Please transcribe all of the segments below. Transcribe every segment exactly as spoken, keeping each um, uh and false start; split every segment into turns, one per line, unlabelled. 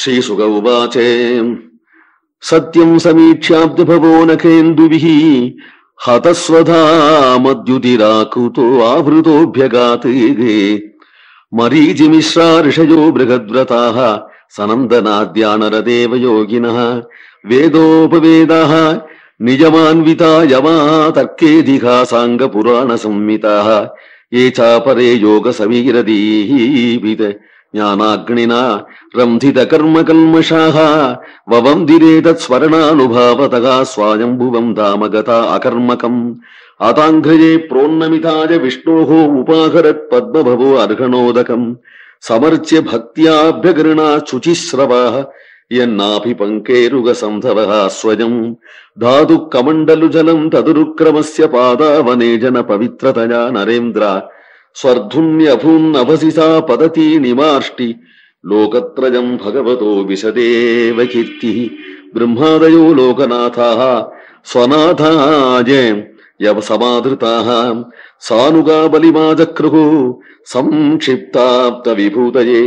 श्रीसुक उवाच सत्यं समीक्ष्याब्धभवो नखेन्दुभिः हतस्वधा मद्युतिराकुतो आवृतोऽभ्यगाते मरीचिमिश्रा ऋषयो बृहद्व्रताः सनन्दनाद्यानरदेव योगिनः वेदोपवेदाः निजमान्विता यमा तर्केऽधिकासाङ्गपुराणसंहिताः ये चापरे योगसमीरदीभित ज्ञानाग्निना रंधितकर्मकल्मषाः ववन्दिरे तत्स्मरणानुभावतः स्वायम्भुवं धाम गता अकर्मकम् आताङ्घ्रये प्रोन्नमिताय विष्णोः उपाहरत् पद्मभवो अर्हणोदकम् समर्च्य भक्त्याभ्यगृणा शुचिस्रवाः यन्नाभि पङ्केरुगसन्धवः स्वयं धातु कमण्डलुजलं तदुरुक्रमस्य पादावने जन पवित्रतया नरेन्द्र स्वर्धुन्यभून्नभसिसा पतति निमार्ष्टि लोकत्रयं भगवतो विशदेव कीर्तिः ब्रह्मादयो लोकनाथाः स्वनाथाय यव समाधृताः सानुगा बलिमाजक्रुः संक्षिप्ताप्त विभूतये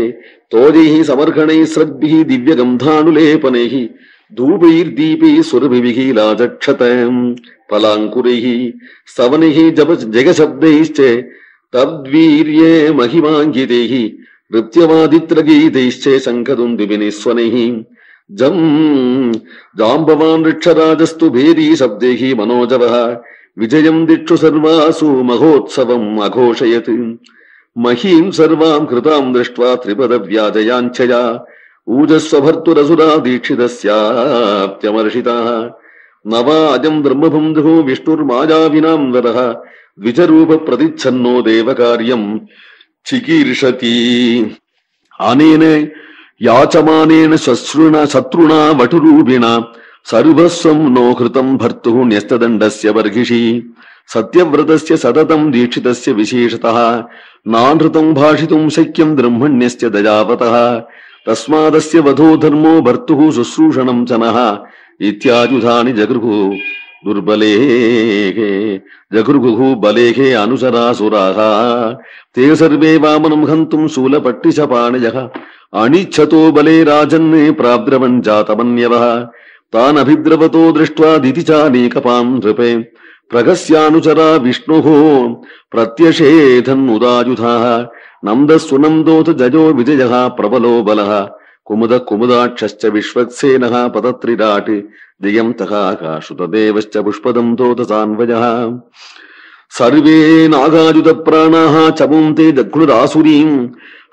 तोजैः समर्हणैः श्रद्भिः दिव्यगन्धानुलेपनैः धूपैर्दीपैः सुरभिः लाजक्षतम् फलाङ्कुरैः स्तवनैः जगशब्दैश्च तद्वीर्ये महिमाङ्गितैः नृत्यवादित्रगीतैश्च शङ्खदुन्दुभिनिस्वनैः जम् जाम्बवान् ऋक्षराजस्तु भेरी शब्दैः मनोजवः विजयं दिक्षु सर्वासु महोत्सवम् अघोषयत् महीं सर्वां कृतां दृष्ट्वा त्रिपदव्याजयाञ्छया ऊजस्वभर्तुरसुरा दीक्षितस्याप्त्यमर्षिताः नवाजं ब्रह्मबन्धुः विष्णुर्मायाविनां वरः द्विजरूप प्रतिच्छन्नो देवकार्यं चिकीर्षति अनेन याचमानेन शस्त्रुणा शत्रुणा वटुरूपिणा सर्वस्वं नो कृतं भर्तुः न्यस्तदण्डस्य बर्हिषि सत्यव्रतस्य सततं दीक्षितस्य विशेषतः नानृतं भाषितुं शक्यं ब्रह्मण्यस्य दयावतः तस्मादस्य वधो धर्मो भर्तुः शुश्रूषणं च नः इत्यायुधानि जगृहुः दुर्बलेः जगृहुः बलेः अनुचरासुराः ते सर्वे वामनं हन्तुं शूलपट्टिशपाणयः अनिच्छतो बले राजन् प्राद्रवन् जातमन्यवः तान् अभिद्रवतो दृष्ट्वा दितिचानीकपां नृपे प्रगस्यानुचरा विष्णुः प्रत्यषेधन् उदायुधाः नन्दस्वनन्दोत जयो विजयः प्रबलो बलः कुमुद कुमुदाक्षश्च विश्वक्सेनः पतत्रिराट् दियन्तः आकाशुतदेवश्च पुष्पदं तोतसान्वयः सर्वे नागायुधप्राणाः चमुन्ते जघ्नुरासुरीं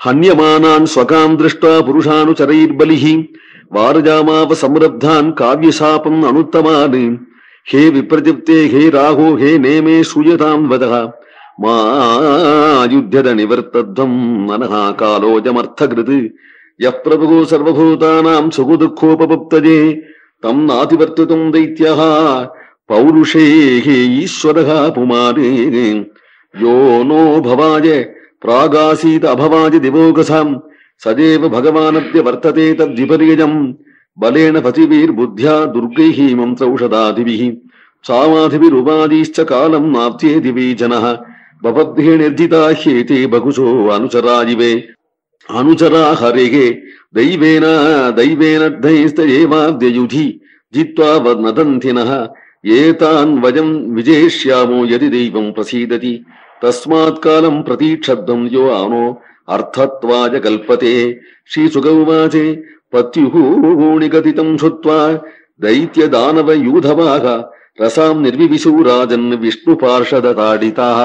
हन्यमानान् स्वकां दृष्ट्वा पुरुषानुचरैर्बलिः वारजामाव संरब्धान् काव्यशापम् अनुत्तमान् हे विप्रजिप्ते हे राहो हे नेमे श्रूयतां वदः मा युध्यद निवर्तध्वं मनः कालोजमर्थकृत् यः प्रभुः सर्वभूतानां सुखदुःखोपपत्तये तं नातिवर्तितुं दैत्यः पौरुषेः ईश्वरः पुमारे यो नो भवाय प्रागासीत अभवाय दिवोगसां सदेव भगवानद्य वर्तते तद्विपर्ययम् बलेन पतिभिर्बुद्ध्या दुर्गैः मन्त्रौषधादिभिः सामाधिभिरुपादिश्च कालं नाप्त्येति वै जनः भवद्भिः निर्जिता ह्येते बहुशो अनुचराजिवे अनुचरा हरेः दैवेन दैवेनर्धैस्तयेवाद्ययुधि जित्वा वदन्थिनः एतान् वयं विजेष्यामो यदि दैवं प्रसीदति तस्मात् कालं प्रतीक्षध्वं यो आनो अर्थत्वाय कल्पते श्रीसुक उवाच पत्युः निगदितं श्रुत्वा दैत्यदानवयूधवाः रसां निर्विविशु राजन् विष्णुपार्षदताडिताः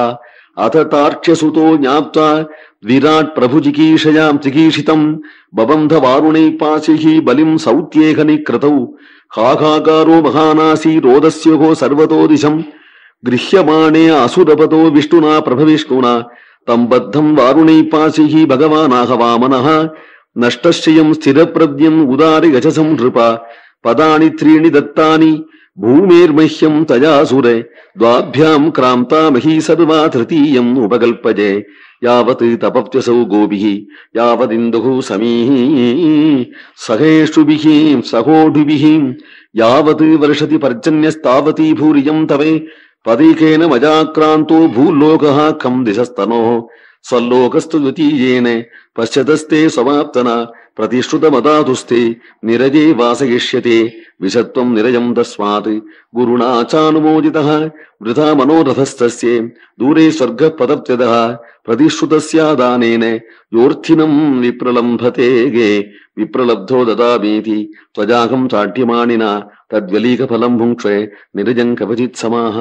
अथ तार्क्ष्यसुतो ज्ञाप्त्वा विराट् प्रभुजिकीर्षयां चिकीर्षितं बबन्ध वारुणैः पाशैः बलिं सौत्येह निकृतौ हाहाकारो महानासी रोदस्योः सर्वतो दिशं गृह्यमाणे असुरपतो विष्णुना प्रभविष्णुना तं बद्धं वारुणैः पाशैः भगवानाह वामनः नष्टश्चयं स्थिरप्रज्ञम् उदारि गजसं नृपा पदानि त्रीणि दत्तानि भूमेर्मह्यं तयासुरे द्वाभ्यां क्रान्ता मही सर्वा तृतीयम् उपकल्पजे यावत् तपत्यसौ गोभिः यावदिन्दुः समीः सहेषुभिः सहोढुभिः यावत् वर्षति पर्जन्यस्तावती भूरियं तवे पदैकेन मजाक्रान्तो भूलोकः खं दिशस्तनोः स्वल्लोकस्तु द्वितीयेन पश्यतस्ते समाप्तना प्रतिश्रुतमदातुस्ते निरजे वासयिष्यते विषत्वं निरजं तस्मात् गुरुणा चानुमोदितः वृथा मनोरथस्तस्य दूरे स्वर्गः पदप्यदः प्रतिश्रुतस्यादानेन योऽर्थिनं विप्रलम्भते गे विप्रलब्धो ददामीति त्वजाहं चाट्यमानिना तद्व्यलीकफलं भुङ्क्ष्वे निरजं कवचित् समाः।